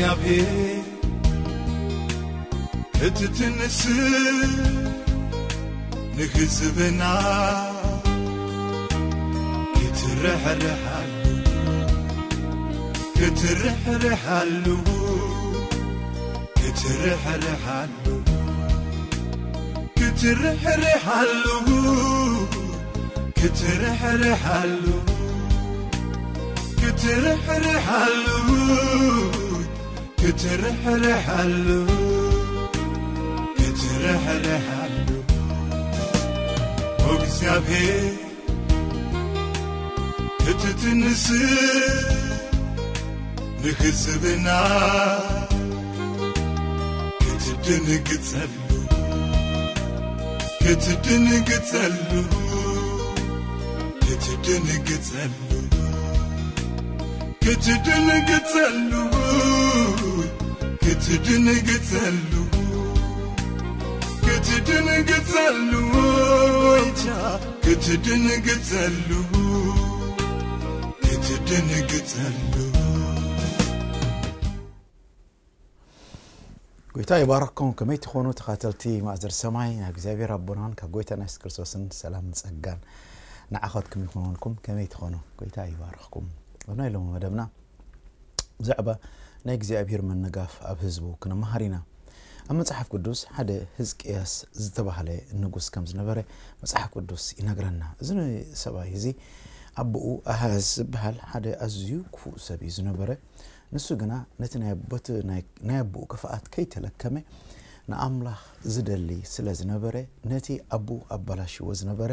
እግዚኣብሔር ክትትንስ ንህዝብና ክትርሕርሓሉ ክትርሕርሓሉ ክትርሕርሓሉ ክትርሕርሓሉ ክትርሕርሓሉ ክትርሕርሓሉ ክትርሕርሓሉ ክትርሕርሓሉ እግዚኣብሔር ክትትንስ ንህዝብና ክትድንግጸሉ ክትድንግጸሉ ክትድንግጸሉ ክትድንግጸሉ ክትድንግጸሉ ክትድንግጸሉ ወይታ ክትድንግጸሉ ክትድንግጸሉ ጎይታ ይባረኩም። ከመይ ትኾኑ ተኻተልቲ ማእዘር ሰማይ? ናብ እግዚኣብሔር ኣቦናን ካብ ጎይታና የሱስ ክርስቶስን ሰላምን ጸጋን ንዓኻትኩም ይኹንኩም። ከመይ ትኾኑ? ጎይታ ይባረኽኩም። ኣብ ናይ ሎሚ መደብና ብዛዕባ ናይ እግዚኣብሔር ምንጋፍ ኣብ ህዝቡ ክንመሃር ኢና። ኣብ መጽሓፍ ቅዱስ ሓደ ህዝቅያስ ዝተባህለ ንጉስ ከም ዝነበረ መጽሓፍ ቅዱስ ይነግረና። እዚ ሰብኣይ እዚ ኣቦኡ ኣሃዝ ዝበሃል ሓደ ኣዝዩ ክፉእ ሰብ እዩ ዝነበረ። ንሱ ግና ነቲ ናይ ኣቦት ናይ ኣቦኡ ክፍኣት ከይተለከመ ንኣምላኽ ዝደሊ ስለ ዝነበረ ነቲ ኣቦኡ ኣባላሽዎ ዝነበረ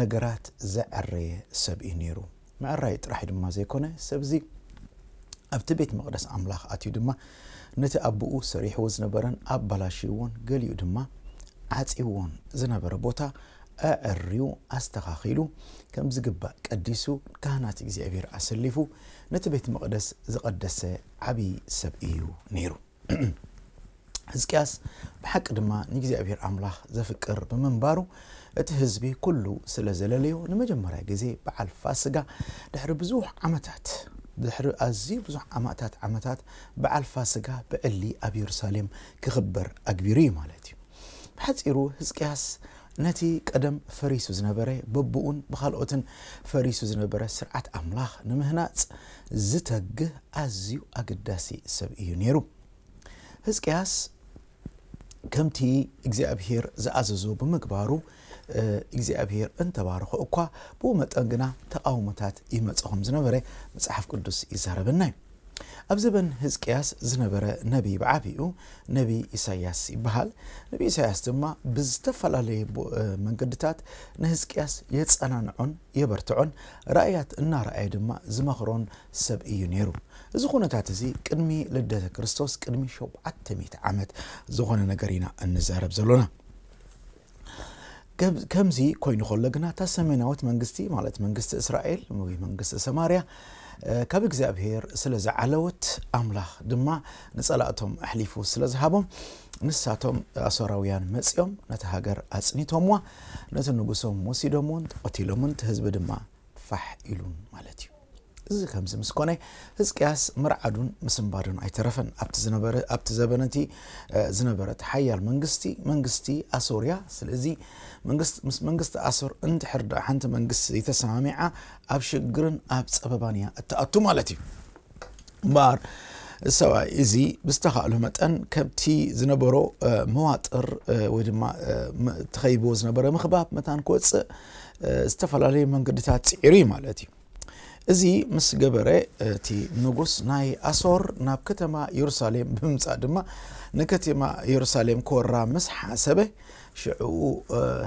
ነገራት ዘዐረየ ሰብ እዩ ነይሩ። ምዕራይ ጥራሕ ድማ ዘይኮነ ሰብዚ ኣብቲ ቤት መቕደስ ኣምላኽ ኣትዩ ድማ ነቲ ኣቦኡ ሰሪሕዎ ዝነበረን ኣባላሽዎን ገሊኡ ድማ ዓጺዎን ዝነበረ ቦታ ኣዐርዩ ኣስተኻኺሉ ከም ዝግባእ ቀዲሱ ካህናት እግዚኣብሔር ኣሰሊፉ ነቲ ቤት መቕደስ ዝቐደሰ ዓብዪ ሰብ እዩ ነይሩ። ሕዝቅያስ ብሓቂ ድማ ንእግዚኣብሔር ኣምላኽ ዘፍቅር ብምንባሩ እቲ ህዝቢ ኩሉ ስለ ዘለለዮ ንመጀመርያ ግዜ በዓል ፋስጋ ድሕሪ ብዙሕ ዓመታት ድሕሪ ኣዝዩ ብዙሕ ዓመታት ዓመታት በዓል ፋስጋ ብዕሊ ኣብ የሩሳሌም ክኽበር ኣግቢሩ እዩ ማለት እዩ። ብሓጺሩ ህዝቅያስ ነቲ ቀደም ፈሪሱ ዝነበረ በብኡን ብኻልኦትን ፈሪሱ ዝነበረ ስርዓት ኣምላኽ ንምህናጽ ዝተግህ ኣዝዩ ኣገዳሲ ሰብ እዩ ነይሩ። ህዝቅያስ ከምቲ እግዚኣብሔር ዝኣዘዞ ብምግባሩ እግዚኣብሔር እንተባረኾ እኳ ብኡ መጠን ግና ተቃውሞታት ይመጽ ከም ዝነበረ መጽሓፍ ቅዱስ ይዛረበና እዩ። ኣብ ዘበን ህዝቅያስ ዝነበረ ነቢይ ብዓቢኡ ነቢይ ኢሳያስ ይበሃል። ነቢይ ኢሳያስ ድማ ብዝተፈላለየ መንገድታት ንህዝቅያስ የጸናንዖን የበርትዖን ራእያት እናረኣየ ድማ ዝመኽሮን ሰብ እዩ ነይሩ። እዚ ኩነታት እዚ ቅድሚ ልደተ ክርስቶስ ቅድሚ ሸውዓተ ሚእቲ ዓመት ዝኾነ ነገር ኢና እንዛረብ ዘሎና። ከምዚ ኮይኑ ከሎ ግና እታ ሰሜናዊት መንግስቲ ማለት መንግስቲ እስራኤል ወይ መንግስቲ ሰማርያ ካብ እግዚኣብሔር ስለ ዝዓለወት ኣምላኽ ድማ ንጸላእቶም ኣሕሊፉ ስለ ዝሃቦም ንሳቶም ኣሶራውያን መጺኦም ነቲ ሃገር ኣጽኒቶምዋ ነቲ ንጉሶም ወሲዶምውን ተቐቲሎምን እቲ ህዝቢ ድማ ፋሕ ኢሉን ማለት እዩ። እዚ ከምዚ ምስ ኮነ ህዝቅያስ ምርዓዱን ምስንባዱን ኣይተረፈን። ኣብቲ ዝነበረ ኣብቲ ዘበነቲ ዝነበረት ሓያል መንግስቲ መንግስቲ ኣሶርያ። ስለዚ ምስ መንግስቲ ኣሶር እንድሕር ደኣ ሓንቲ መንግስቲ ዘይተሰማሚዓ ኣብ ሽግርን ኣብ ጸበባን እያ እትኣቱ ማለት እዩ። እምበኣር ሰብኣይ እዚ ብዝተኻእሎ መጠን ከብቲ ዝነበሮ መዋጥር ወይ ድማ ትኸይብዎ ዝነበረ ምኽባብ መታን ክወፅእ ዝተፈላለዩ መንገድታት ፅዒሩ እዩ ማለት እዩ። እዚ ምስ ገበረ እቲ ንጉስ ናይ ኣሶር ናብ ከተማ የሩሳሌም ብምምፃእ ድማ ንከተማ የሩሳሌም ክወራ ምስ ሓሰበ ሽዑ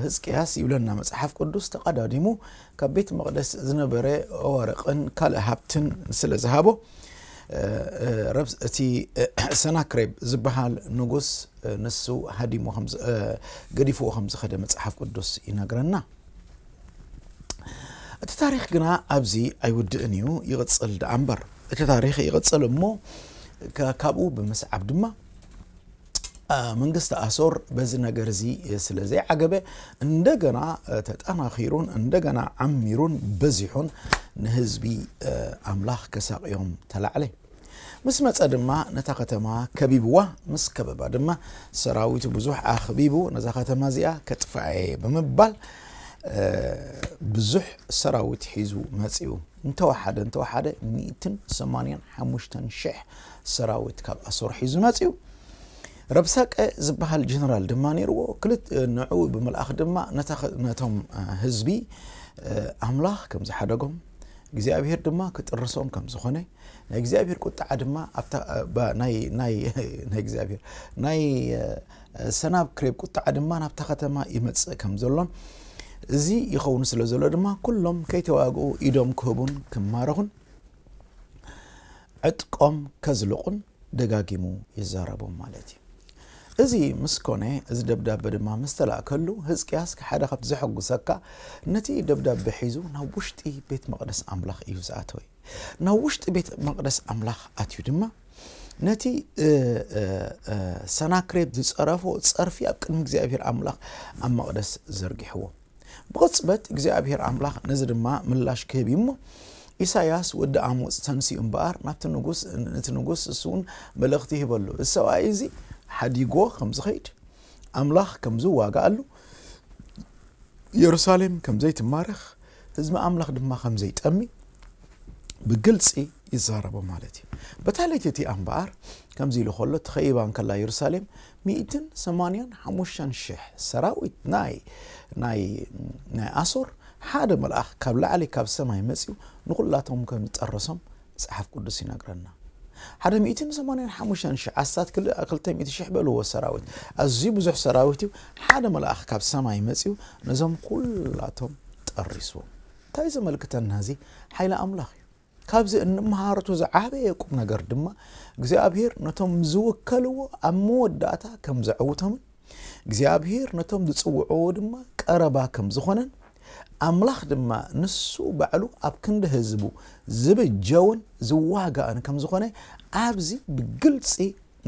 ህዝቅያስ ይብለና መፅሓፍ ቅዱስ ተቐዳዲሙ ካብ ቤት መቕደስ ዝነበረ ወርቕን ካልእ ሃብትን ስለ ዝሃቦ እቲ ሰናክሬብ ዝበሃል ንጉስ ንሱ ሃዲሞ ገዲፍዎ ከም ዝኸደ መፅሓፍ ቅዱስ ይነግረና። እቲ ታሪክ ግና ኣብዚ ኣይውድእን እዩ፣ ይቕፅል ደኣ እምበር። እቲ ታሪክ ይቕፅል እሞ ካብኡ ብምስዓብ ድማ መንግስቲ ኣሶር በዚ ነገር እዚ ስለ ዘይዓገበ እንደገና ተጠናኺሩን እንደገና ዓሚሩን በዚሑን ንህዝቢ ኣምላኽ ከሳቕዮም ተላዕለ። ምስ መጸ ድማ ነታ ከተማ ከቢብዋ፣ ምስ ከበባ ድማ ሰራዊቱ ብዙሕ ኣኽቢቡ፣ ነዛ ከተማ እዚኣ ከጥፍኣ እየ ብምባል፣ እ፣ ብዙሕ ሰራዊት ሒዙ መጺኡ። እንተወሓደ፣ እንተወሓደ ሚእትን ሰማንያን ሓሙሽተን ሽሕ ሰራዊት ካብ ኣሶር ሒዙ መጺኡ። ረብሳቀ ዝበሃል ጀነራል ድማ ነይርዎ። ክልት-፣ ንዕኡ ብምልኣኽ ድማ ነታ ኸ-፣ ነቶም፣ እ፣ ህዝቢ፣ እ፣ ኣምላኽ ከም ዝሓደጎም፣ እግዚኣብሔር ድማ ክጥርሶም ከም ዝኾነ፣ ናይ እግዚኣብሔር ቁጥዓ ድማ ኣብታ፣ እ፣ ባ-፣ ናይ፣ ናይ፣ ናይ እግዚኣብሔር፣ ናይ፣ እ፣ ሰናክሬም ቁጥዓ ድማ ናብታ ከተማ ይመጽእ ከም ዘሎን፣ እዚ ይኸውን ስለ ዘሎ ድማ ኩሎም ከይተዋግኡ ኢዶም ክህቡን ክማረኹን ዕጥቆም ከዝልቑን ደጋጊሙ ይዛረቦም ማለት እዩ። እዚ ምስ ኮነ፣ እዚ ደብዳበ ድማ ምስ ተላእከሉ፣ ህዝቅያስ ሓደ ካብቲ ዘሐጉሰካ፣ ነቲ ደብዳበ ሒዙ ናብ ውሽጢ ቤት መቕደስ ኣምላኽ እዩ ዝኣተወ። ናብ ውሽጢ ቤት መቕደስ ኣምላኽ ኣትዩ ድማ፣ ነቲ፣ እ፣ እ፣ እ፣ ሰናክሬም ዝጸረፎ ጸርፊ ኣብ ቅድሚ እግዚኣብሔር ኣምላኽ ኣብ መቕደስ ዘርጊሕዎ። ብቕጽበት እግዚኣብሔር ኣምላኽ ነዚ ድማ ምላሽ ክህብ እዩ እሞ፣ ኢሳያስ ወዲ ኣሞጽ ተንሲኡ እምበኣር ናብቲ ንጉስ፣ ነቲ ንጉስ እሱ እውን መልእኽቲ ይህበሉ። እዚ ሰብኣይ እዚ ሓዲጎ ከም ዝኸይድ፣ ኣምላኽ ከም ዝዋጋኣሉ፣ የሩሳሌም ከም ዘይትማረኽ፣ ህዝቢ ኣምላኽ ድማ ከም ዘይጠሚ ብግልጺ ይዛረቦ ማለት እዩ። በታ ለይቲ እቲኣ እምበኣር ከምዚ ኢሉ ከሎ፣ ትኸይባ እንከላ የሩሳሌም፣ ሚእትን ሰማንያን ሓሙሽተን ሽሕ ሰራዊት ናይ፣ ናይ፣ ናይ ኣሶር ሓደ መልኣኽ ካብ ላዕሊ ካብ ሰማይ መጺኡ ንኹላቶም ከም ዝጠረሶም መጽሓፍ ቅዱስ ይነግረና። ሓደ ሚእትን ሰማንያን ሓሙሽተን ሽሕ፣ ኣስታት ክል-፣ ክልተ ሚእቲ ሽሕ በልዎ ሰራዊት፣ ኣዝዩ ብዙሕ ሰራዊት እዩ። ሓደ መልኣኽ ካብ ሰማይ መጺኡ ነዞም ኩላቶም ጠሪስዎም። እንታይ ዘመልክተና እዚ? ሓይሊ ኣምላኽ እዩ። ካብዚ እንመሃረቶ ዝዓበየ ቁም ነገር ድማ እግዚኣብሔር ነቶም ዝውከልዎ ኣብ መወዳእታ ከም ዘዕውቶምን እግዚኣብሔር ነቶም ዝጽውዕዎ ድማ ቀረባ ከም ዝኾነን ኣምላኽ ድማ ንሱ ባዕሉ ኣብ ክንዲ ህዝቡ ዝብጀውን ዝዋጋእን ከም ዝኾነ ኣብዚ ብግልጺ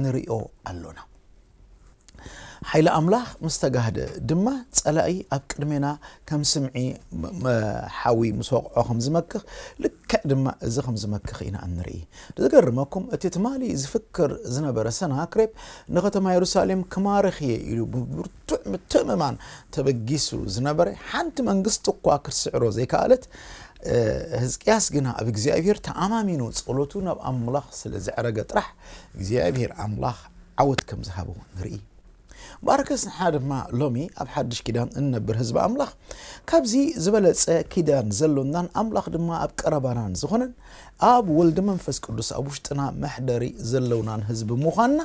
ንርእዮ ኣሎና። ሓይሊ ኣምላኽ ምስ ተጋህደ ድማ ጸላኢ ኣብ ቅድሜና ከም ስምዒ መ-፣ መ-፣ ሓዊ ምስ ወቕዖ ከም ዝመክኽ ልክዕ ድማ እዚ ከም ዝመክኽ ኢና እንርኢ። ዝገርመኩም እቲ ትማሊ ዝፍክር ዝነበረ ሰናክሬም ንከተማ የሩሳሌም ክማርኽ እየ ኢሉ ብብርቱዕ ምትእምማን ተበጊሱ ዝነበረ ሓንቲ መንግስቲ እኳ ክትስዕሮ ዘይከኣለት፣ እ፣ ህዝቅያስ ግና ኣብ እግዚኣብሔር ተኣማሚኑ ጸሎቱ ናብ ኣምላኽ ስለ ዘዕረገ ጥራሕ እግዚኣብሔር ኣምላኽ ዓወት ከም ዝሃቦ ንርኢ። ባርከስ ንሓ ድማ ሎሚ ኣብ ሓድሽ ኪዳን እንነብር ህዝቢ ኣምላኽ ካብዚ ዝበለጸ ኪዳን ዘሎናን ኣምላኽ ድማ ኣብ ቀረባናን ዝኾነን ኣብ ወልዲ መንፈስ ቅዱስ ኣብ ውሽጥና መሕደሪ ዘለውናን ህዝቢ ምዃንና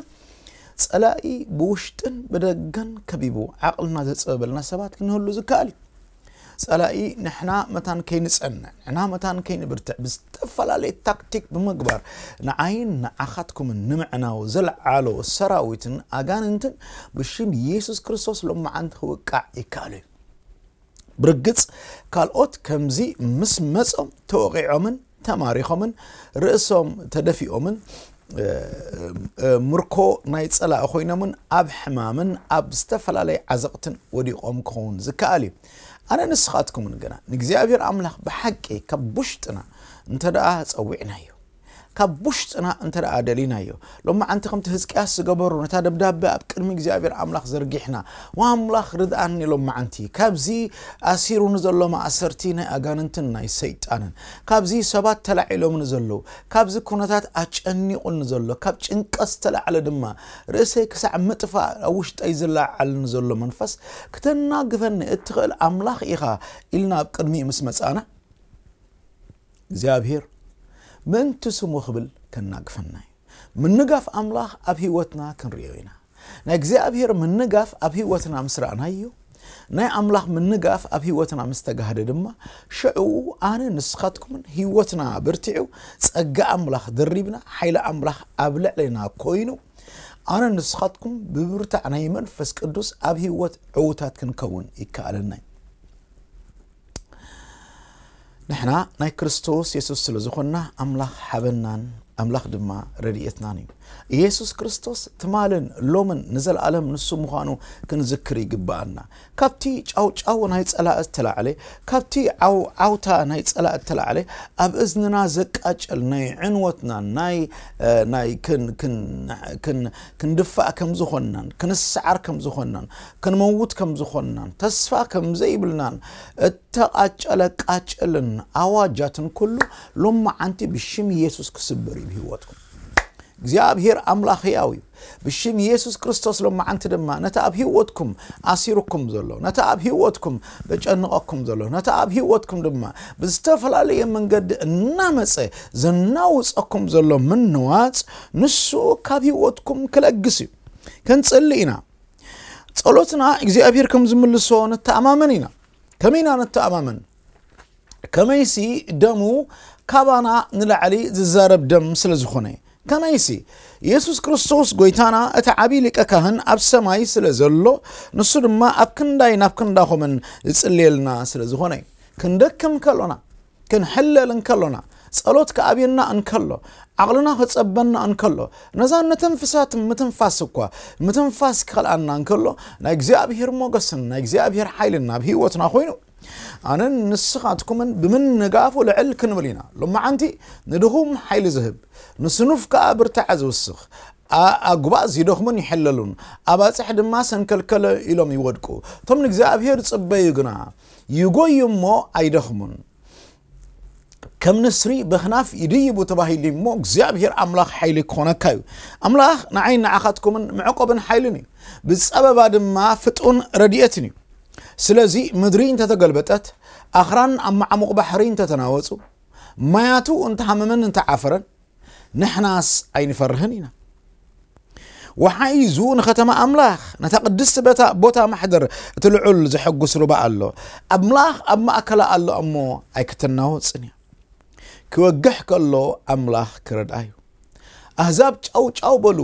ጸላኢ ብውሽጥን ብደገን ከቢቡ ዓቕልና ዘጸበበልና ሰባት ክንህሉ ዝከኣል እዩ። ጸላኢ ንሕና መታን ከይንጸንዕ፣ ንሕና መታን ከይንብርትዕ ብዝተፈላለየ ታክቲክ ብምግባር ንዓይን ንዓኻትኩምን ንምዕናው ዘልዓሎ ሰራዊትን ኣጋንንትን ብሽም ኢየሱስ ክርስቶስ ሎመዓንቲ ክውቃዕ ይከኣል እዩ። ብርግጽ ካልኦት ከምዚ ምስ መጾም ተወቒዖምን ተማሪኾምን ርእሶም ተደፊኦምን እ፣ እ፣ ምርኮ ናይ ጸላኢ ኮይኖምን ኣብ ሕማምን ኣብ ዝተፈላለየ ዓዘቕትን ወዲቖም ክኸውን ዝከኣል እዩ። ኣነ ንስኻትኩምን ግና ንእግዚኣብሔር ኣምላኽ ብሓቂ ካብ ውሽጥና እንተ ደኣ ጸዊዕናዮ፣ ካብ ውሽጥና እንተ ደኣ ደሊናዮ፣ ሎማዓንቲ ከምቲ ህዝቅያስ ዝገበሩ ነታ ደብዳበ ኣብ ቅድሚ እግዚኣብሔር ኣምላኽ ዘርጊሕና፣ "ወኣምላኽ ርድኣኒ ሎማዓንቲ፣ ካብዚ ኣሲሩ ንዘሎ ማእሰርቲ ናይ ኣጋንንትን ናይ ሰይጣንን፣ ካብዚ ሰባት ተላዒሎም ንዘለዉ፣ ካብዚ ኩነታት ኣጨኒቑ ንዘሎ፣ ካብ ጭንቀት ዝተላዕለ ድማ ርእሰይ ክሳዕ ምጥፋእ ኣብ ውሽጠይ ዝለዓል ንዘሎ መንፈስ ክተናግፈኒ እትኽእል ኣምላኽ ኢኻ" ኢልና ኣብ ቅድሚኡ ምስ መጻና፣ እግዚኣብሔር ምእንቲ ስሙ ክብል ከናግፈና እዩ። ምንጋፍ ኣምላኽ ኣብ ህይወትና ክንርእዮ ኢና። ናይ እግዚኣብሔር ምንጋፍ ኣብ ህይወትና ምስ ረኣናዮ፣ ናይ ኣምላኽ ምንጋፍ ኣብ ህይወትና ምስ ተጋህደ ድማ፣ ሽዑ ኣነ ንስኻትኩምን ህይወትና ብርቲዑ፣ ጸጋ ኣምላኽ ደሪብና፣ ሓይሊ ኣምላኽ ኣብ ልዕሌና ኮይኑ፣ ኣነ ንስኻትኩም ብብርታዕ ናይ መንፈስ ቅዱስ ኣብ ህይወት ዕዉታት ክንከውን ይከኣለና እዩ። ንሕና ናይ ክርስቶስ የሱስ ስለ ዝኾንና፣ ኣምላኽ ሓበናን ኣምላኽ ድማ ረድኤትናን እዩ። ኢየሱስ ክርስቶስ ትማልን ሎምን ንዘለኣለም ንሱ ምዃኑ ክንዝክር ይግብኣና። ካብቲ ጫውጫው ናይ ጸላእ እተላዕለ፣ ካብቲ ዓው ዓውታ ናይ ጸላእ እተላዕለ፣ ኣብ እዝንና ዘቃጨል ናይ ዕንወትና ናይ ናይ ክንድፋእ ከም ዝኾንናን ክንስዓር ከም ዝኾንናን ክንመውት ከም ዝኾንናን ተስፋ ከም ዘይብልናን እተቓጨለ ቃጭልን ኣዋጃትን ኩሉ ሎማዓንቲ ብሽም ኢየሱስ ክስበር እዩ ብህይወትኩም። እግዚኣብሔር ኣምላኽ ህያው እዩ። ብሽም ኢየሱስ ክርስቶስ ሎማዓንቲ ድማ ነቲ ኣብ ህይወትኩም ኣሲሩኩም ዘሎ፣ ነቲ ኣብ ህይወትኩም ዘጨንቐኩም ዘሎ፣ ነቲ ኣብ ህይወትኩም ድማ ብዝተፈላለየ መንገዲ እናመጸ ዘናውጸኩም ዘሎ ምንዋጽ ንሱ ካብ ህይወትኩም ክለግስ እዩ። ክንጽሊ ኢና። ጸሎትና እግዚኣብሔር ከም ዝምልሶ ንተኣማመን ኢና። ከመይ ኢና ንተኣማመን? ከመይሲ ደሙ ካባና ንላዕሊ ዝዛረብ ደም ስለ ዝኾነ። ከመይሲ የሱስ ክርስቶስ ጎይታና እቲ ዓብዪ ሊቀ ካህን ኣብ ሰማይ ስለ ዘሎ ንሱ ድማ ኣብ ክንዳይ ናብ ክንዳኹምን ዝጽልየልና ስለ ዝኾነ። ክንደክም ከሎና፣ ክንሕለል እንከሎና፣ ጸሎት ክኣብየና እንከሎ፣ ዓቕልና ክጸበና እንከሎ፣ ነዛ ነተንፍሳት ምትንፋስ እኳ ምትንፋስ ክኸልኣና እንከሎ ናይ እግዚኣብሔር ሞገስን ናይ እግዚኣብሔር ሓይልን ናብ ህይወትና ኮይኑ ኣነን ንስኻትኩምን ብምንጋፉ ልዕል ክንብል ኢና። ሎማዓንቲ ንድኹም ሓይሊ ዝህብ፣ ንስኑፍ ከኣ ብርታዐ ዝውስኽ፣ ኣጉባእ ዝደኽሙን ይሕለሉን፣ ኣባጽሕ ድማ ሰንከልከለ ኢሎም ይወድቁ። እቶም ንእግዚኣብሔር ዝጽበዩ ግና ይጎዩ እሞ ኣይደኽሙን። ከም ንስሪ በኽናፍ ይድይቡ ተባሂሉ እሞ እግዚኣብሔር ኣምላኽ ሓይሊ ክኾነካ እዩ። ኣምላኽ ንዓይ ንዓኻትኩምን መዕቆብን ሓይልን እዩ። ብጸበባ ድማ ፍጡን ረድኤትን እዩ። ስለዚ ምድሪ እንተተገልበጠት፣ ኣኽራን ኣብ መዓሙቕ ባሕሪ እንተተናወጹ፣ ማያቱ እንተሃመመን እንተዓፈረን፣ ንሕናስ ኣይንፈርህን ኢና። ወሓይዙ ንኸተማ ኣምላኽ፣ ነታ ቅድስቲ በታ ቦታ ማሕደር እቲ ልዑል ዘሐጉስ ሩባ ኣሎ። ኣምላኽ ኣብ ማእከላ ኣሎ እሞ ኣይክትናወጽን እያ። ክወግሕ ከሎ ኣምላኽ ክረድኣ እዩ። ኣህዛብ ጫው ጫው በሉ፣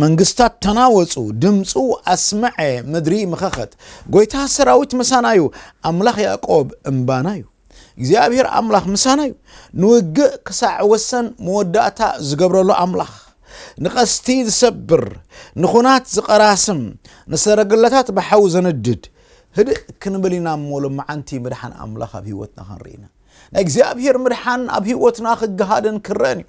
መንግስታት ተናወጹ፣ ድምፁ ኣስመዐ፣ ምድሪ ምኸኸት። ጎይታ ሰራዊት ምሳና እዩ፣ ኣምላኽ ያዕቆብ እምባና እዩ። እግዚኣብሔር ኣምላኽ ምሳና እዩ። ንውግእ ክሳዕ ወሰን መወዳእታ ዝገብረሉ ኣምላኽ፣ ንቐስቲ ዝሰብር፣ ንኹናት ዝቐራስም፣ ንሰረገላታት ብሓዊ ዘንድድ። ህድእ ክንብል ኢና እሞ ሎማዓንቲ ምድሓን ኣምላኽ ኣብ ህይወትና ክንርኢ ኢና። ናይ እግዚኣብሔር ምድሓን ኣብ ህይወትና ክገሃድን ክረአን እዩ።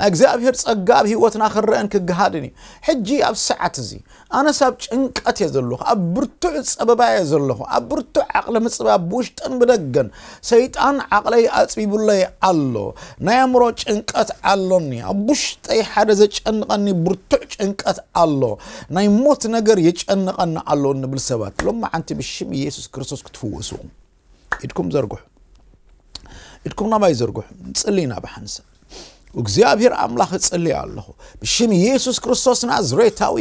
ናይ እግዚኣብሔር ጸጋ ኣብ ህይወትና ክረአን ክገሃድን እዩ። ሕጂ ኣብ ሰዓት እዚ ኣነስ ኣብ ጭንቀት እየ ዘለኹ፣ ኣብ ብርቱዕ ጸበባ እየ ዘለኹ፣ ኣብ ብርቱዕ ዓቕሊ ምጽባብ ብውሽጥን ብደገን ሰይጣን ዓቕለይ ኣጽቢቡለይ ኣሎ። ናይ ኣእምሮ ጭንቀት ኣሎኒ፣ ኣብ ውሽጠይ ሓደ ዘጨንቐኒ ብርቱዕ ጭንቀት ኣሎ፣ ናይ ሞት ነገር የጨንቐኒ ኣሎ እንብል ሰባት ሎማዓንቲ ብሽም ኢየሱስ ክርስቶስ ክትፍወሱ ኢኹም። ኢድኩም ዘርግሑ። ኢድኩም ናባይ ዘርግሑ። ንጽሊ ኢና ብሓንሳብ። እግዚኣብሔር ኣምላኽ እጽሊ ኣለኹ። ብሽም ኢየሱስ ክርስቶስ ናዝሬታዊ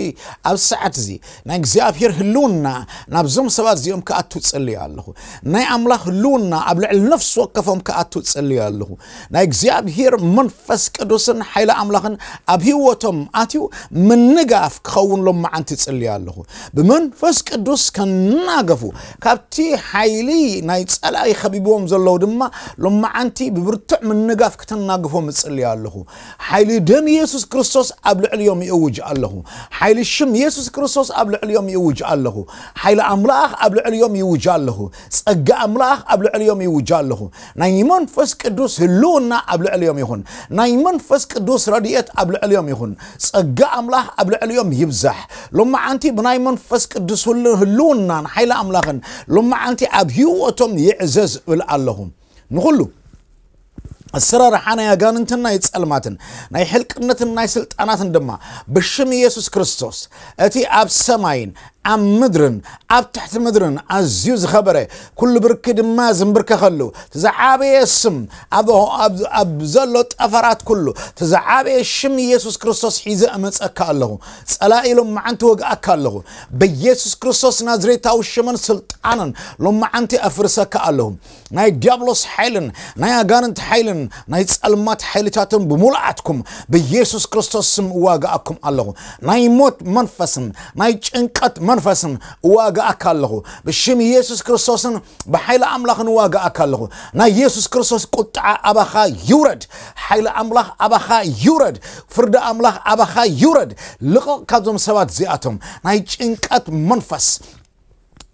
ኣብ ሰዓት እዚ ናይ እግዚኣብሔር ህልውና ናብዞም ሰባት እዚኦም ክኣቱ እጽሊ ኣለኹ። ናይ ኣምላኽ ህልውና ኣብ ልዕሊ ነፍሲ ወከፎም ክኣቱ እጽሊ ኣለኹ። ናይ እግዚኣብሔር መንፈስ ቅዱስን ሓይሊ ኣምላኽን ኣብ ህይወቶም ኣትዩ ምንጋፍ ክኸውን ሎማዓንቲ እጽሊ ኣለኹ። ብመንፈስ ቅዱስ ከናገፉ ካብቲ ሓይሊ ናይ ጸላኢ ከቢብዎም ዘለዉ ድማ ሎማዓንቲ ብብርቱዕ ምንጋፍ ክተናግፎም እጽሊ ኣለኹ። ሓይሊ ደም ኢየሱስ ክርስቶስ ኣብ ልዕሊኦም ይእውጅ ኣለኹ። ሓይሊ ሽም ኢየሱስ ክርስቶስ ኣብ ልዕሊኦም ይእውጅ ኣለኹ። ሓይሊ ኣምላኽ ኣብ ልዕሊኦም ይውጅ ኣለኹ። ጸጋ ኣምላኽ ኣብ ልዕሊኦም ይውጅ ኣለኹ። ናይ መንፈስ ቅዱስ ህልውና ኣብ ልዕሊኦም ይኹን። ናይ መንፈስ ቅዱስ ረድኤት ኣብ ልዕሊኦም ይኹን። ጸጋ ኣምላኽ ኣብ ልዕሊኦም ይብዛሕ። ሎማዓንቲ ብናይ መንፈስ ቅዱስ ህሉ-፣ ህልውናን ሓይሊ ኣምላኽን ሎማዓንቲ ኣብ ህይወቶም ይዕዘዝ እብል ኣለኹ። ንኹሉ ኣሰራርሓ ናይ ኣጋንንትን ናይ ጸልማትን ናይ ሕልቅነትን ናይ ስልጣናትን ድማ ብሽም ኢየሱስ ክርስቶስ እቲ ኣብ ሰማይን ኣብ ምድርን ኣብ ትሕቲ ምድርን ኣዝዩ ዝኸበረ ኩሉ ብርኪ ድማ ዝንብርከኸሉ እቲ ዝዓበየ ስም ኣብ፣ ኣብ፣ ኣብ ዘሎ ጠፈራት ኩሉ እቲ ዝዓበየ ሽም ኢየሱስ ክርስቶስ ሒዘ እመጸካ ኣለኹ። ጸላኢ ሎማዓንቲ ወግኣካ ኣለኹ። ብኢየሱስ ክርስቶስ ናዝሬታዊ ሽምን ስልጣንን ሎማዓንቲ ኣፍርሰካ ኣለኹ። ናይ ዲያብሎስ ሓይልን ናይ ኣጋንንት ሓይልን ናይ ጸልማት ሓይልታትን ብምሉኣትኩም ብኢየሱስ ክርስቶስ ስም እዋግኣኩም ኣለኹ። ናይ ሞት መንፈስን ናይ ጭንቀት መንፈስን እዋጋኣካ ኣለኹ። ብሽም ኢየሱስ ክርስቶስን ብሓይሊ ኣምላኽን እዋጋኣካ ኣለኹ። ናይ ኢየሱስ ክርስቶስ ቁጥዓ ኣባኻ ይውረድ። ሓይሊ ኣምላኽ ኣባኻ ይውረድ። ፍርዲ ኣምላኽ ኣባኻ ይውረድ። ልቐቕ ካብዞም ሰባት እዚኣቶም። ናይ ጭንቀት መንፈስ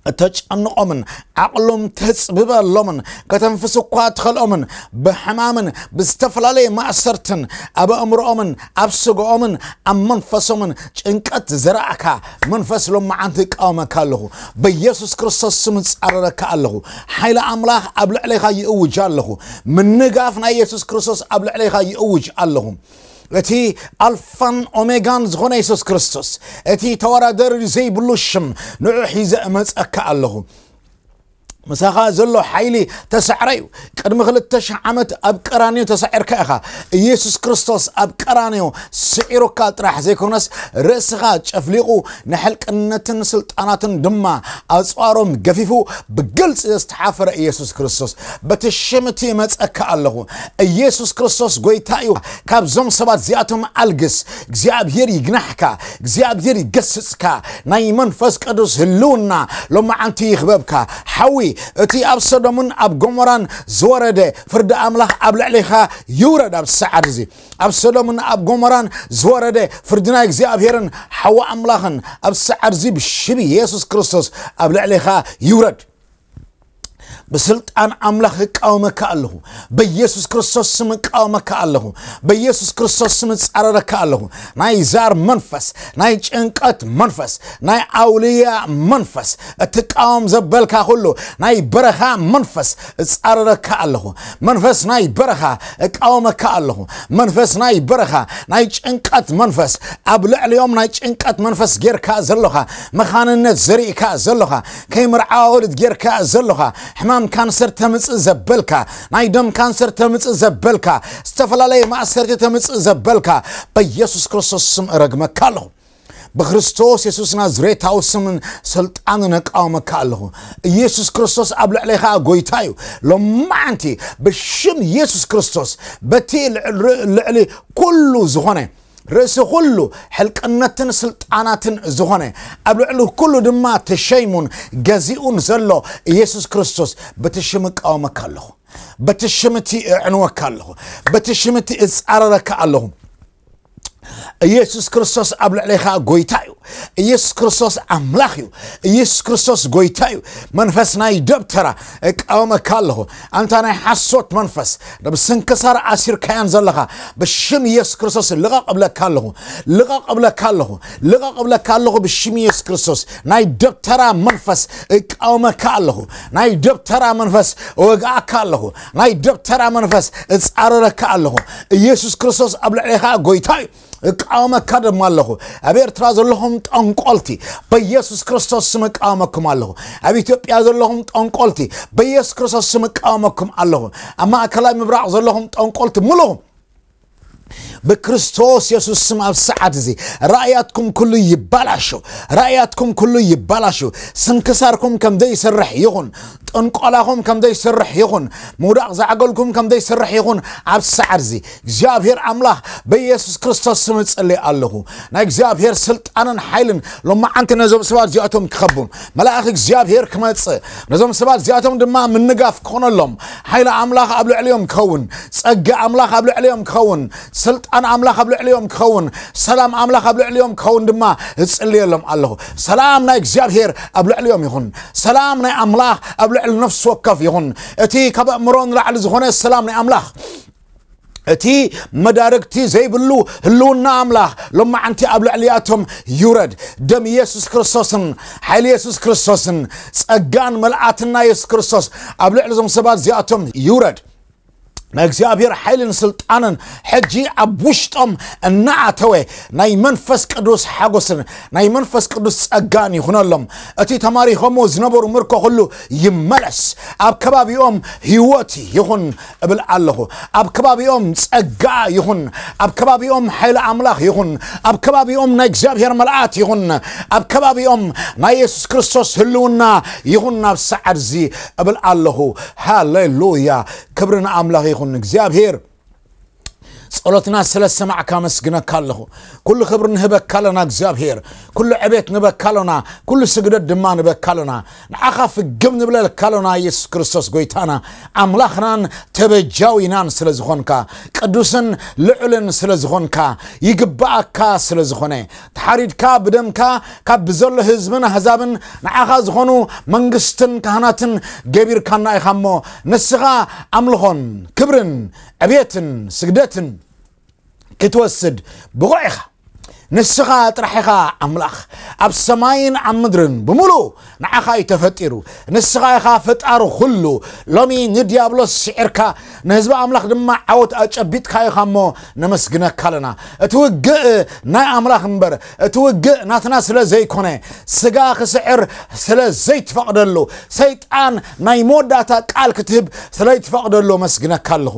እተጨንቖምን ዓቕሎም ተጽብበሎምን ከተንፍስ እኳ ትኸልኦምን ብሕማምን ብዝተፈላለየ ማእሰርትን ኣብ ኣእምሮኦምን ኣብ ስጋኦምን ኣብ መንፈሶምን ጭንቀት ዝዘራእካ መንፈስ ሎመዓንቲ እቃወመካ ኣለኹ። በኢየሱስ ክርስቶስ ስም እጻረረካ ኣለኹ። ሓይሊ ኣምላኽ ኣብ ልዕሌኻ ይእውጅ ኣለኹ። ምንጋፍ ናይ ኢየሱስ ክርስቶስ ኣብ ልዕሌኻ ይእውጅ ኣለኹ። እቲ ኣልፋን ኦሜጋን ዝኾነ የሱስ ክርስቶስ፣ እቲ ተወዳደሪ ዘይብሉ ሽም፣ ንዑ ሒዘ እመጸካ ኣለኹ። ምሳኻ ዘሎ ሓይሊ ተሳዕረ እዩ። ቅድሚ ክልተ ሽሕ ዓመት ኣብ ቀራንዮ ተሳዒርካ ኢኻ። ኢየሱስ ክርስቶስ ኣብ ቀራንዮ ስዒሩካ ጥራሕ ዘይኮነስ፣ ርእስኻ ጨፍሊቑ ንሕልቅነትን ስልጣናትን ድማ ኣጽዋሮም ገፊፉ ብግልጺ ዝተሓፈረ ኢየሱስ ክርስቶስ፣ በቲ ሽም እቲ እመጸካ ኣለኹ። ኢየሱስ ክርስቶስ ጎይታ እዩ። ካብዞም ሰባት እዚኣቶም ኣልግስ። እግዚኣብሔር ይግናሕካ፣ እግዚኣብሔር ይገስጽካ። ናይ መንፈስ ቅዱስ ህልውና ሎመዓንቲ ይኽበብካ። ሓዊ እቲ ኣብ ሰዶምን ኣብ ጎሞራን ዝወረደ ፍርዲ ኣምላኽ ኣብ ልዕሌኻ ይውረድ። ኣብ ሰዓት እዚ ኣብ ሰዶምን ኣብ ጎሞራን ዝወረደ ፍርዲ ናይ እግዚኣብሔርን ሓዊ ኣምላኽን ኣብ ሰዓት እዚ ብሽም ኢየሱስ ክርስቶስ ኣብ ልዕሌኻ ይውረድ። ብስልጣን ኣምላኽ እቃወመካ ኣለኹ። በኢየሱስ ክርስቶስ ስም እቃወመካ ኣለኹ። በኢየሱስ ክርስቶስ ስም እጻረረካ ኣለኹ። ናይ ዛር መንፈስ፣ ናይ ጭንቀት መንፈስ፣ ናይ ኣውልያ መንፈስ እትቃወም ዘበልካ ኩሉ፣ ናይ በረኻ መንፈስ እጻረረካ ኣለኹ። መንፈስ ናይ በረኻ እቃወመካ ኣለኹ። መንፈስ ናይ በረኻ፣ ናይ ጭንቀት መንፈስ፣ ኣብ ልዕሊኦም ናይ ጭንቀት መንፈስ ጌርካ ዘለኻ፣ መኻንነት ዘሪእካ ዘለኻ፣ ከይምርዓወልድ ጌርካ ዘለኻ፣ ሕማም ካንሰር ተምጽእ ዘበልካ፣ ናይ ደም ካንሰር ተምጽእ ዘበልካ፣ ዝተፈላለየ ማእሰርቲ ተምጽእ ዘበልካ፣ በኢየሱስ ክርስቶስ ስም እረግመካ ኣለኹ። ብክርስቶስ የሱስ ናዝሬታዊ ስምን ስልጣንን እቃወመካ ኣለኹ። ኢየሱስ ክርስቶስ ኣብ ልዕሌኻ ጎይታ እዩ። ሎማዓንቲ ብሽም ኢየሱስ ክርስቶስ በቲ ልዕሊ ኩሉ ዝኾነ፣ ርእሲ ኩሉ ሕልቅነትን ስልጣናትን ዝኾነ፣ ኣብ ልዕሊ ኩሉ ድማ ተሸይሙን ገዚኡን ዘሎ ኢየሱስ ክርስቶስ በቲ ሽም እቃወመካ ኣለኹ። በቲ ሽም እቲ እዕንወካ ኣለኹ። በቲ ሽም እቲ እጻረረካ ኣለኹ። ኢየሱስ ክርስቶስ ኣብ ልዕሌኻ ጎይታ እዩ። ኢየሱስ ክርስቶስ ኣምላኽ እዩ። ኢየሱስ ክርስቶስ ጎይታ እዩ። መንፈስ ናይ ደብተራ እቃወመካ ኣለኹ። ኣንታ ናይ ሓሶት መንፈስ፣ ብስንክሳር ኣሲርካያን ዘለኻ፣ ብሽም ኢየሱስ ክርስቶስ ልቐቕ እብለካ ኣለኹ። ልቐቕ እብለካ ኣለኹ። ልቐቕ እብለካ ኣለኹ ብሽም ኢየሱስ ክርስቶስ። ናይ ደብተራ መንፈስ እቃወመካ ኣለኹ። ናይ ደብተራ መንፈስ እወግኣካ ኣለኹ። ናይ ደብተራ መንፈስ እጻረረካ ኣለኹ። ኢየሱስ ክርስቶስ ኣብ ልዕሌኻ ጎይታ እዩ። እቃወመካ ድማ ኣለኹ። ኣብ ኤርትራ ዘለኹም ጠንቆልቲ፣ በኢየሱስ ክርስቶስ ስም እቃወመኩም ኣለኹ። ኣብ ኢትዮጵያ ዘለኹም ጠንቆልቲ፣ በኢየሱስ ክርስቶስ ስም እቃወመኩም ኣለኹ። ኣብ ማእከላይ ምብራቕ ዘለኹም ጠንቆልቲ ምሉኹም ብክርስቶስ የሱስ ስም ኣብ ሰዓት እዚ ራእያትኩም ኩሉ ይባላሾ። ራእያትኩም ኩሉ ይባላሾ። ስንክሳርኩም ከም ዘይሰርሕ ይኹን። ጥንቆላኹም ከም ዘይሰርሕ ይኹን። ምውዳቕ ዛዕገልኩም ከም ዘይሰርሕ ይኹን። ኣብ ሰዓት እዚ እግዚኣብሔር ኣምላኽ በኢየሱስ ክርስቶስ ስም እጽሊ ኣለኹ። ናይ እግዚኣብሔር ስልጣንን ሓይልን ሎማዓንቲ ነዞም ሰባት እዚኣቶም ክኸቡም፣ መልኣኽ እግዚኣብሔር ክመጽእ፣ ነዞም ሰባት እዚኣቶም ድማ ምንጋፍ ክኾነሎም፣ ሓይሊ ኣምላኽ ኣብ ልዕሊኦም ክኸውን፣ ጸጋ ኣምላኽ ኣብ ልዕሊኦም ክኸውን፣ ስልጣን ኣምላኽ ኣብ ልዕሊኦም ክኸውን፣ ሰላም ኣምላኽ ኣብ ልዕሊኦም ክኸውን ድማ እጽልየሎም ኣለኹ። ሰላም ናይ እግዚኣብሔር ኣብ ልዕሊኦም ይኹን። ሰላም ናይ ኣምላኽ ኣብ ልዕሊ ነፍሲ ወከፍ ይኹን። እቲ ካብ ኣእምሮ ንላዕሊ ዝኾነ ሰላም ናይ ኣምላኽ፣ እቲ መዳርግቲ ዘይብሉ ህልውና ኣምላኽ ሎማዓንቲ ኣብ ልዕሊኣቶም ይውረድ። ደም ኢየሱስ ክርስቶስን ሓይሊ ኢየሱስ ክርስቶስን ጸጋን መልኣትና ኢየሱስ ክርስቶስ ኣብ ልዕሊ እዞም ሰባት እዚኣቶም ይውረድ። ናይ እግዚኣብሔር ሓይልን ስልጣንን ሕጂ ኣብ ውሽጦም እናኣተወ ናይ መንፈስ ቅዱስ ሓጎስን ናይ መንፈስ ቅዱስ ጸጋን ይኹነሎም። እቲ ተማሪኾሞ ዝነበሩ ምርኮ ኩሉ ይመለስ። ኣብ ከባቢኦም ህይወት ይኹን እብል ኣለኹ። ኣብ ከባቢኦም ጸጋ ይኹን። ኣብ ከባቢኦም ሓይሊ ኣምላኽ ይኹን። ኣብ ከባቢኦም ናይ እግዚኣብሔር መልኣት ይኹን። ኣብ ከባቢኦም ናይ የሱስ ክርስቶስ ህልውና ይኹን። ናብ ሰዓት እዚ እብል ኣለኹ። ሃሌሉያ! ክብሪ ንኣምላኽ ይኹን። እግዚኣብሔር ጸሎትና ስለ ሰማዕካ ኣመስግነካ ኣለኹ። ኩሉ ክብሪ ንህበካ ኣለና እግዚኣብሔር። ኩሉ ዕቤት ንበካ ኣሎና። ኩሉ ስግደት ድማ ንበካ ኣሎና። ንዓኻ ፍግም ንብለልካ ኣሎና። ኢየሱስ ክርስቶስ ጎይታና ኣምላኽናን ተበጃዊናን ስለ ዝኾንካ፣ ቅዱስን ልዑልን ስለ ዝኾንካ፣ ይግብኣካ ስለ ዝኾነ፣ ተሓሪድካ ብደምካ ካብ ብዘሎ ህዝብን ኣህዛብን ንዓኻ ዝኾኑ መንግስትን ካህናትን ገቢርካና ኢኻ እሞ፣ ንስኻ ኣምልኾን ክብርን ዕቤትን ስግደትን ክትወስድ ብቑዕ ኢኻ። ንስኻ ጥራሕ ኢኻ ኣምላኽ። ኣብ ሰማይን ኣብ ምድርን ብምሉእ ንዓኻ እዩ ተፈጢሩ። ንስኻ ኢኻ ፈጣሪ ኩሉ። ሎሚ ንዲያብሎስ ስዒርካ፣ ንህዝቢ ኣምላኽ ድማ ዓወት ኣጨቢጥካ ኢኻ እሞ ነመስግነካ ኣለና። እቲ ውግእ ናይ ኣምላኽ እምበር፣ እቲ ውግእ ናትና ስለ ዘይኮነ፣ ስጋ ክስዕር ስለ ዘይትፈቕደሉ፣ ሰይጣን ናይ መወዳእታ ቃል ክትህብ ስለ ይትፈቕደሉ ኣመስግነካ ኣለኹ።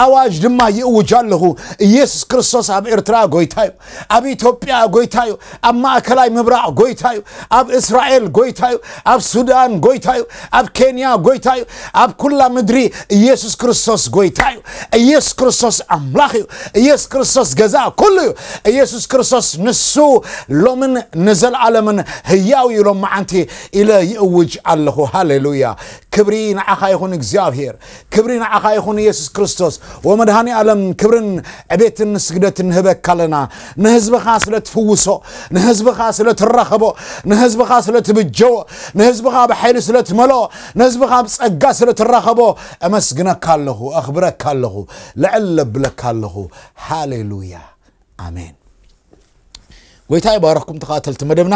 ኣዋጅ ድማ ይእውጅ ኣለኹ። ኢየሱስ ክርስቶስ ኣብ ኤርትራ ጎይታ እዩ። ኣብ ኢትዮጵያ ጎይታ እዩ። ኣብ ማእከላይ ምብራቕ ጎይታ እዩ። ኣብ እስራኤል ጎይታ እዩ። ኣብ ሱዳን ጎይታ እዩ። ኣብ ኬንያ ጎይታ እዩ። ኣብ ኩላ ምድሪ ኢየሱስ ክርስቶስ ጎይታ እዩ። ኢየሱስ ክርስቶስ ኣምላኽ እዩ። ኢየሱስ ክርስቶስ ገዛ ኩሉ እዩ። ኢየሱስ ክርስቶስ ንሱ ሎምን ንዘለኣለምን ህያው እዩ። ሎም መዓንቲ ኢለ ይእውጅ ኣለኹ። ሃሌሉያ! ክብሪ ንዓኻ ይኹን እግዚኣብሔር። ክብሪ ንዓኻ ይኹን ኢየሱስ ክርስቶስ። ወመድሃኒ ኣለም፣ ክብርን ዕቤትን ስግደትን ንህበካ ኣለና። ንህዝብኻ ስለ ትፍውሶ፣ ንህዝብኻ ስለ ትራኸቦ፣ ንህዝብኻ ስለ ትብጀዎ፣ ንህዝብኻ ብሓይሊ ስለ ትመልኦ፣ ንህዝብኻ ብጸጋ ስለ ትራኸቦ፣ ኣመስግነካ ኣለኹ፣ ኣኽብረካ ኣለኹ፣ ልዕል ለብለካ ኣለኹ። ሃሌሉያ! ኣሜን። ጎይታ ይባረኽኩም ተኸታተልቲ መደብና።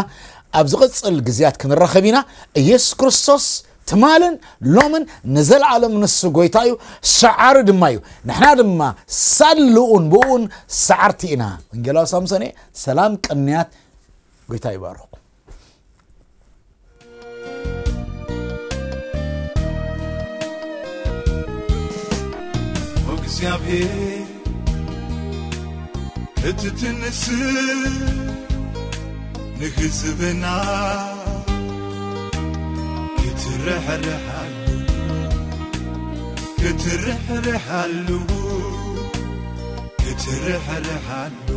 ኣብ ዝቕጽል ግዜያት ክንራኸብ ኢና። ኢየሱስ ክርስቶስ ትማልን ሎምን ንዘለኣለም ንሱ ጎይታ እዩ፣ ሰዓሪ ድማ እዩ። ንሕና ድማ ሳልኡን ብኡን ሰዓርቲ ኢና። ወንጌላዊ ሳምሶን እየ። ሰላም ቅንያት። ጎይታ ይባረኽኩም። እግዚኣብሔር ክትትንስ ንህዝብና ክትርሕርሓሉ ክትርሕርሓሉ ክትርሕርሓሉ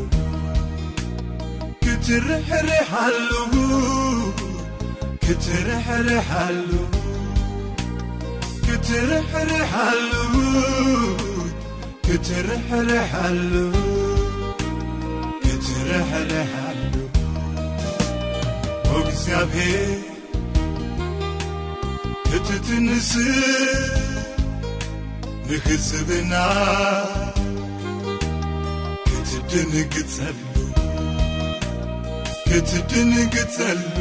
ክትርሕርሓሉ ክትርሕርሓሉ ክትርሕርሓሉ ክትርሕርሓሉ ክትርሕርሓሉ እግዚኣብሔር ክትትንስ ንህዝብና ክትድንግጸሉ ክትድንግጸሉ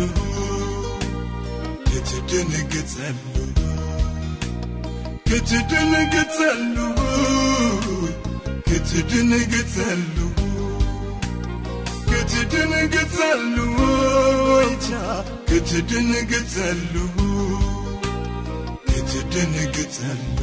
ክትድንግጸሉ ክትድንግጸሉ ክትድንግጸሉ ክትድንግጸሉ ወይታ ክትድንግጸሉ ክትድንግጸሉ